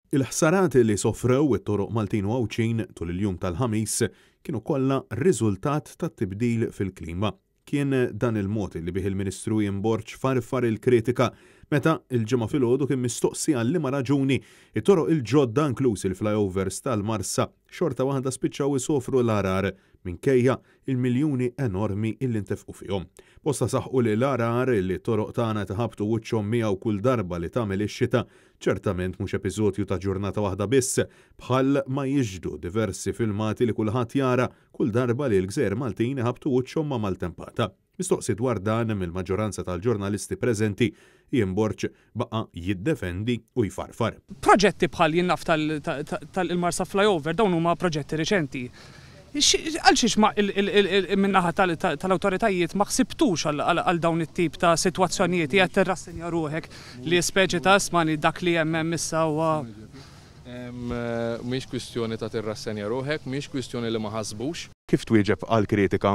Il-ħsarat li sofrew it-toroq Maltin u Għawdxin tul il-jum tal-Ħamis kienu kollha riżultat tat-tibdil fil-klima. Kien dan il-mod li bih il-Ministru Ian Borg farfar il-kritika meta l-Ġimgħa filgħodu kien mistoqsi għal liema raġuni t-toroq il-ġodda inkluż il-flyovers tal-Marsa xorta waħda spiċċaw isofru l-għargħar minkejja il-miljuni enormi illi ntefqu fihom. Bosta saħqu li l-għargħar li t-toroq tagħna qed iħabbtu wiċċhom miegħu kull darba li tagħmel ix-xita ċertament mhux episodju ta' ġurnata waħda biss, bħal ma jixhdu diversi filmati li kulħadd jara kull darba li l-gżejjer Maltin iħabbtu wiċċhom ma' maltempata. Mistoqsi dwar dan mill-maġġoranza tal-ġurnalisti preżenti, Ian Borg baqa' jiddefendi u jfarfar. Proġetti bħal jien naf tal-Marsa Flyover dawn huma proġetti riċenti. Għalxiex ma min-naħa tal-awtoritajiet ma ħsibtux għal dawn it-tip ta' sitwazzjonijiet qiegħed tirrassenja ruħek li speċi ta' ismani dak li hemm hemm issa huwa Mhix kwistjoni ta' tirrassenja ruħek, mhix kwistjoni li ma ħasbux. Kif twieġeb għall-kritika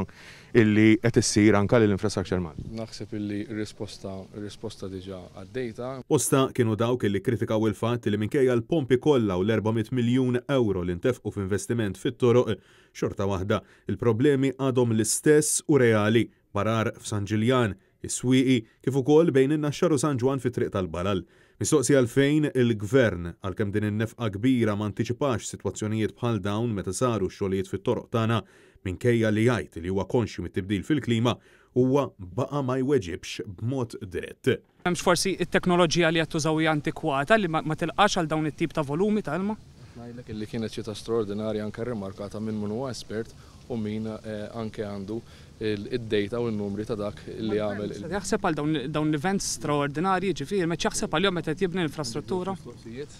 illi qed issir anke lil Infrastructure Malta? Naħseb illi r-risposta, ir-risposta diġà għaddejtha. Bosta kienu dawk illi kkritikaw il-fatt li minkejja l-pompi kollha u l-400 miljun ewro li ntefqu f'investiment fit-toroq, xorta waħda, il-problemi għadhom l-istess u reali, b'għarar f'San Ġiljan, is-Swieqi, kif ukoll bejn in-Naxxar u San Ġwann fit-Triq tal-Balal. Mistoqsi għalfejn il-Gvern, għalkemm din in-nefqa kbira ma antiċipax sitwazzjonijiet bħal dawn meta saru x-xogħlijiet fit-toroq tagħna, minkejja li jgħid li huwa konxju mit-tibdil fil-klima, huwa baqa' ma jweġibx b'mod dirett. Hemmx forsi t-teknoloġija li qed tużaw hija antikwata li ma tilqax għal dawn it-tip ta' volumi ta' ilma? Qed ngħidlek illi kienet xita straordinarja anke rrimarkata minn min huwa espert u min anke għandu id-data u n-numri ta' dak li għamel. Qed jaħseb għal dawn l-events straordinarji, jiġifieri m'qedx jaħseb għalihom meta qed jibni l-infrastruttura?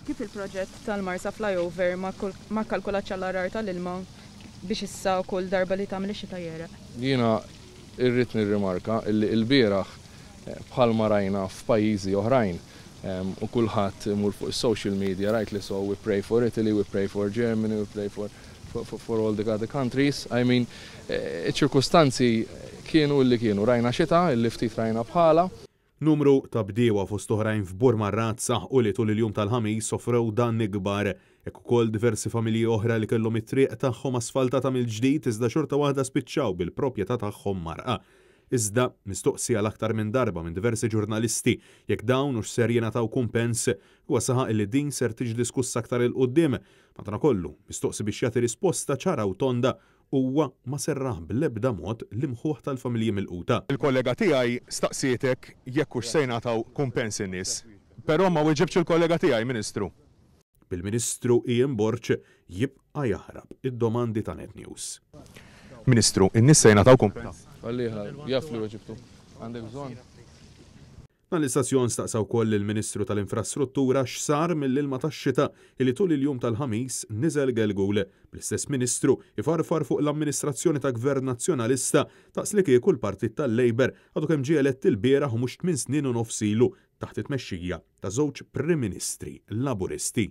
Kif il-proġett tal-Marsa Flyover ma kkalkulatx għall-għargħar tal-ilma biex issa kull darba li tagħmel ix-xita jegħreq? Jiena rrid nirrimarka illi ilbieraħ bħalma rajna f'pajjiżi oħrajn u kulħadd imur fuq is-social media rightly so, we pray for Italy, we pray for Germany, we pray for for all the other countries, I mean, iċ-ċirkustanzi kienu illi kienu, rajna xita illi ftit rajna bħalha. Numru ta' bdiewa fost oħrajn f'Burmarrad saħqu li tul il-jum tal-Ħamis sofrew danni kbar. Hekk ukoll diversi familji oħra li kellhom it-triq tagħhom asfaltata mill-ġdid iżda xorta waħda spiċċaw bil-propjetà tagħhom mgħarrqa. Iżda, mistoqsi għal aktar minn darba minn diversi ġurnalisti jekk dawn hux ser jingħataw kumpens, huwa saħaq li din ser tiġi diskussa aktar 'il quddiem Madankollu, mistoqsi biex jagħti risposta ċara u tonda, huwa ma serraħ bl-ebda mod l-imħuħ tal-familji milquta. Il-kollega tiegħi staqsietek jekk hux se jingħataw kumpens in-nies. Però ma weġibtx il-kollega tiegħi, Ministru. Bil-Ministru Ian Borg jibqa' jaħrab id-domandi ta' Net News. Ministru, in-nies se jingħataw kumpens? Għalliha, jaf li weġibtu. Għandek bżonn? Dan l-istazzjon staqsa wkoll lill-Ministru tal-Infrastruttura x'sar mill-ilma tax-xita li tul il-jum tal-Ħamis niżel gelgul, bl-istess Ministru ifarfar fuq l-amministrazzjoni ta' Gvern Nazzjonalista daqs li kieku l-Partit tal-Labour għadu kemm ġie elett ilbieraħ u mhux tminn snin u nofs ilu taħt it-tmexxija ta' żewġ Prim Ministri Laburisti.